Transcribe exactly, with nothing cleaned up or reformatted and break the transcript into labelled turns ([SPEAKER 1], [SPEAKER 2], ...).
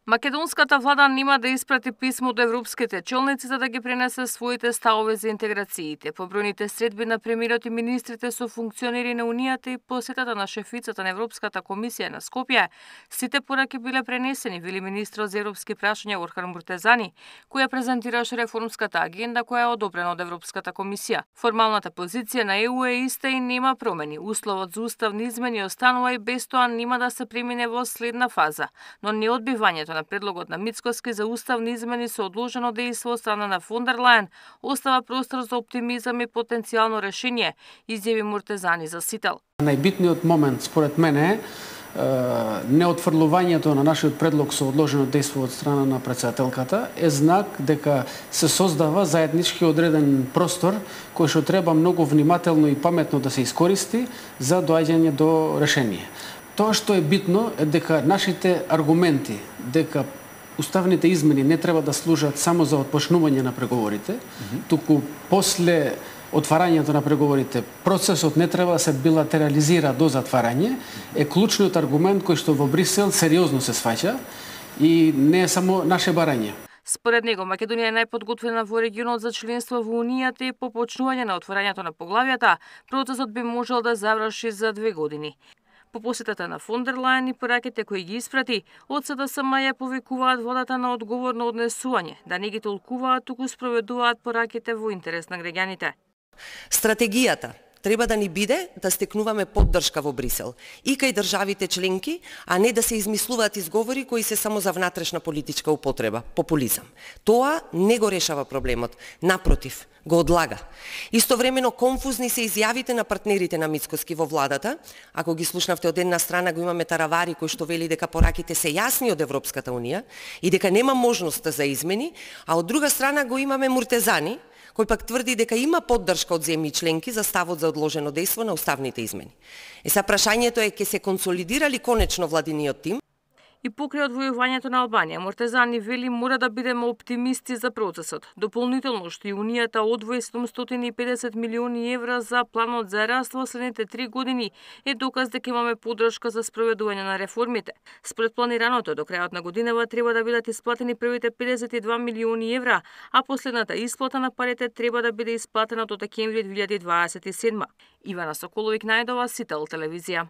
[SPEAKER 1] Македонската влада нема да испрати писмо до европските челници за да ги пренесе своите ставови за интеграциите. Побројните средби на премиерот и министрите со функционери на Унијата и посетата на шефицата на Европската комисија на Скопје, сите пораки биле пренесени, вели министрот за европски прашања Орхан Муртезани, која презентираше реформската агенда која е одобрена од Европската комисија. Формалната позиција на Е У е иста и нема промени. Условот за уставни измени останува и без тоа нема да се премине во следна фаза, но неодбивањето на предлогот на Мицкоски за уставни измени со одложено дејство од страна на фон дер Лајен остава простор за оптимизам и потенцијално решение, изјави Муртезани за Сител.
[SPEAKER 2] Најбитниот момент според мене е неотфрлувањето на нашиот предлог со одложено дејство од страна на претседателката е знак дека се создава заеднички одреден простор кој што треба многу внимателно и паметно да се искористи за доаѓање до решение. Тоа што е битно е дека нашите аргументи дека уставните измени не треба да служат само за отпочнување на преговорите, mm-hmm. туку после отварањето на преговорите процесот не треба да се билатерализира до затварање, е клучниот аргумент кој што во Брисел сериозно се сваќа и не е само наше барање.
[SPEAKER 1] Според него, Македонија е најподготвена во регионот за членство во Унијата и по почнување на отворањето на поглавјата, процесот би можел да заврши за две години. По посетата на фон дер Лајен и пораките кои ги испрати, од Се Де Се Ем ја повикуваат владата на одговорно однесување, да не ги толкуваат, туку спроведуваат пораките во интерес на граѓаните.
[SPEAKER 3] Стратегијата треба да ни биде да стекнуваме поддршка во Брисел и кај државите членки, а не да се измислуваат изговори кои се само за внатрешна политичка употреба, популизам. Тоа не го решава проблемот, напротив, го одлага. Истовремено конфузни се изјавите на партнерите на Мицкоски во владата. Ако ги слушнавте, од една страна го имаме Таравари кој што вели дека пораките се јасни од Европската унија и дека нема можност за измени, а од друга страна го имаме Муртезани кој пак тврди дека има поддршка од земји членки за ставот за одложено дејство на уставните измени. Е, са прашањето е, ќе се консолидира ли конечно владиниот тим?
[SPEAKER 1] И покрај одвојувањето на Албанија, Муртезани вели мора да бидеме оптимисти за процесот. Дополнително што и Унијата одвои седумстотини и педесет милиони евра за планот за раст во следните три години е доказ дека имаме поддршка за спроведување на реформите. Според планираното, до крајот на годинава треба да бидат исплатени првите педесет и два милиони евра, а последната исплата на парите треба да биде исплатена до декември две илјади дваесет и седма. Ивана Соколовик најдова, Сител телевизија.